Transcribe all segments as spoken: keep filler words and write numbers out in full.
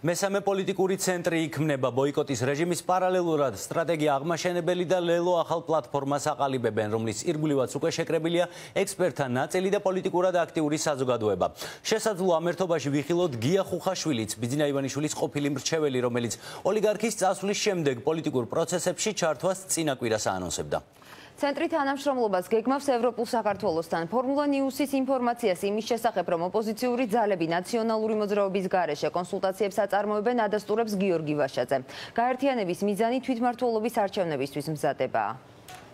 მესამე პოლიტიკური ცენტრი იქმნება ბოიკოტის რეჟიმის პარალელურად სტრატეგია აღმაშენებელი და ლელო ახალ პლატფორმას აყალიბებენ, რომლის ირგვლივაც უკვე შეკრებილია ექსპერტთა ნაწილი და პოლიტიკურად აქტიური საზოგადოება. შესაძლოა ამ ერთობაში ვიხილოთ გია ხუხაშვილიც, ბიძინა ივანიშვილის ყოფილი მრჩეველი, რომელიც ოლიგარქის წასვლის შემდეგ პოლიტიკურ პროცესებში ჩართვას წინა კვირას აანონსებდა. ცენტრი თანამშრომლობას გეგმავს ევროპულ საქართველოსთან. ფორმულა ნიუსის ინფორმაციას იმის შესახებ, რომ ოპოზიციური ძალები ნაციონალური მოძრაობის გარეშე კონსულტაციებს აწარმოებენ, ადასტურებს გიორგი ვაშაძე. გაერთიანების მიზანი თვითმმართველობის არჩევნებისთვის მზადებაა.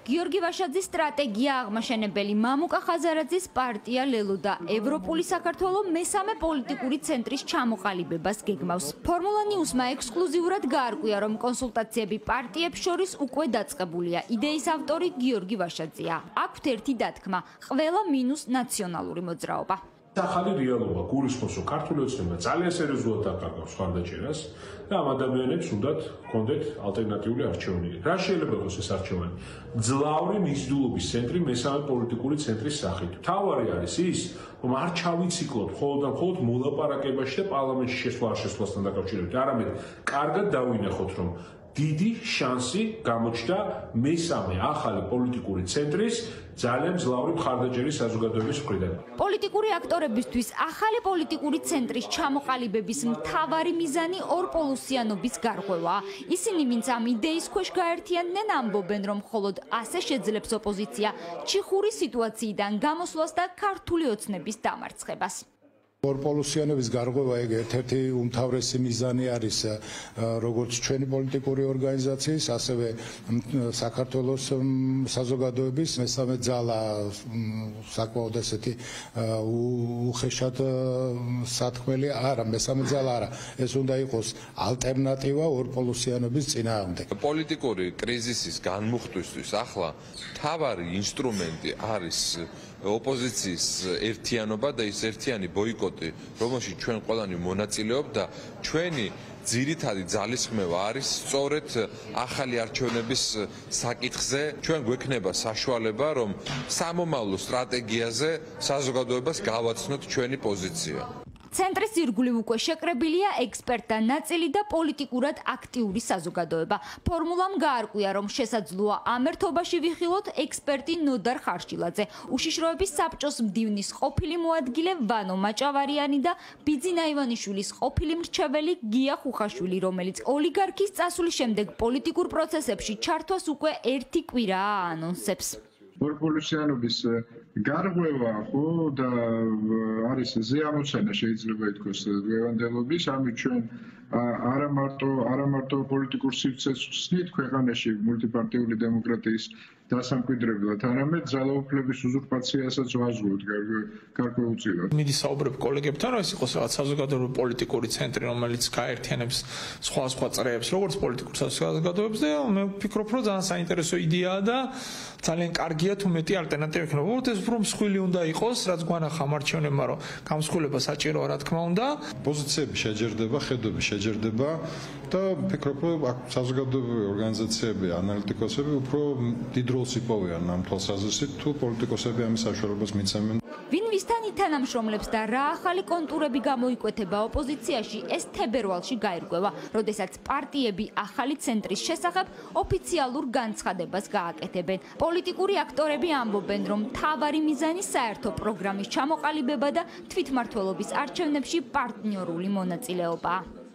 გიორგი ვაშაძის სტრატეგია აღმაშენებელი, მამუკა ხაზარაძის პარტია ლელო და ევროპული საქართველო მესამე პოლიტიკური ცენტრის ჩამოყალიბებას გეგმავს. ფორმულა ნიუსმა ექსკლუზიურად გაარკვია, რომ კონსულტაციები პარტიებს შორის უკვე დაწყებულია. იდეის ავტორი გიორგი ვაშაძეა. აქვთ ერთი დათქმა: ყველა მინუს ნაციონალური მოძრაობა. ახალი რეალობა გულისხმობს, რომ ქართული ოცნება ძალიან სერიოზულად აკარგავს ხარდაჭერას და ამ ადამიანებს უნდათ ჰქონდეთ ალტერნატიული არჩევანი. რა შეიძლება იყოს ეს არჩევანი? ძლავრი მიზიდულობის ცენტრი მესამე პოლიტიკური ცენტრის სახით. თავარი არის ის, რომ არ ჩავიციკლოთ მხოლოდ და მხოლოდ მოლაპარაკებაში და პარლამენტში შესვლა არ შესვლასთან დაკავშირებით, არამედ კარგად დავინახოთ, რომ დიდი შანსი გამოჩნდა მესამე ახალი პოლიტიკური ცენტრის ძალიან მძლავრი მხარდაჭერის საზოგადოების მხრიდან. პოლიტიკური აქტორებისთვის ახალი პოლიტიკური ცენტრის ჩამოყალიბების მთავარი მიზანი ორპოლუსიანობის გარღვევაა. ისინი, ვინც ამ იდეის ქვეშ გაერთიანდნენ, ამბობენ, რომ მხოლოდ ასე შეძლებს ოპოზიცია ჩიხური სიტუაციიდან გამოსვლას და ქართული ოცნების დამარცხებას. ორპოლუსიანობის გარღვევა ეგ ერთ-ერთი უმთავრესი მიზანი არის როგორც ჩვენი პოლიტიკური ორგანიზაციის, ასევე საქართველოს საზოგადოების მესამე ძალა საკმაოდ ესეთი უხეშად სათქმელი არა, მესამე ძალა არა, ეს უნდა იყოს ალტერნატივა ორპოლუსიანობის წინააღმდეგ. პოლიტიკური კრიზისის განმუხტვისთვის ახლა მთავარი ინსტრუმენტი არის ოპოზიციის ერთიანობა და ის ერთიანი ბოიკოტი, რომელშიც ჩვენ ყველანი მონაწილეობთ და ჩვენი ძირითადი ძალისხმევა არის სწორედ ახალი არჩევნების საკითხზე. ჩვენ გვექნება საშუალება, რომ სამომავლო სტრატეგიაზე საზოგადოებას გავაცნოთ ჩვენი პოზიცია. ცენტრის ირგვლივ უკვე შეკრებილია ექსპერტთა ნაწილი და პოლიტიკურად აქტიური საზოგადოება. ფორმულამ გაარკვია, რომ შესაძლოა ამ ერთობაში ვიხილოთ ექსპერტი ნოდარ ხარშილაძე, უშიშროების საბჭოს მდივნის ყოფილი მოადგილე ვანო მაჭავარიანი და ბიძინა ივანიშვილის ყოფილი მრჩეველი გია ხუხაშვილი, რომელიც ოლიგარქის წასვლის შემდეგ პოლიტიკურ პროცესებში ჩართვას უკვე ერთი კვირაა აანონსებს. ორპოლუსიანობის გარღვევა ხო და არის ზეამოცანა შეიძლება ითქვას დღევანდელობის, ამით ჩვენ არა მარტო არა მარტო პოლიტიკურ სივრცეს ვხსნით ქვეყანაში მულტიპარტიული დემოკრატიის დასამკვიდრებლად, არამედ ძალაუფლების უზურპაციასაც ვაზღვევთ გარკვეულწილად. მიდი საუბრებ კოლეგებთან, რომ ეს იყოს რაღაც საზოგადოებრივი პოლიტიკური ცენტრი, რომელიც გაერთიანებს სხვადასხვა წრეებს, როგორც პოლიტიკურ საზოგადოებებს და მე ვფიქრობ, რომ ძალიან საინტერესო იდეაა და ძალიან კარგია თუ მეტი ალტერნატივა იქნება. უბრალოდ ეს უფრო მსხვილი უნდა იყოს, რაც გვანახა მარჩევნებმა, რომ გამსხვილება საჭიროა, რა თქმა უნდა. პოზიციები შეჯერდება, ხედვები შეჯერდება და ვფიქრობ, რომ საზოგადოებრივი ორგანიზაციები, ანალიტიკოსები უფრო დიდ როლს იპოვიან ამ თვალსაზრისით, თუ პოლიტიკოსები ამის საშუალებას მიცემენ. ვინ ვისთან ითანამშრომლებს და რა ახალი კონტურები გამოიკვეთება ოპოზიციაში, ეს თებერვალში გაირკვევა, როდესაც პარტიები ახალი ცენტრის შესახებ ოფიციალურ განცხადებას გააკეთებენ. პოლიტიკური აქტორები ამბობენ, რომ მთავარი მიზანი საერთო პროგრამის ჩამოყალიბება და თვითმმართველობის არჩევნებში პარტნიორული მონაწილეობაა.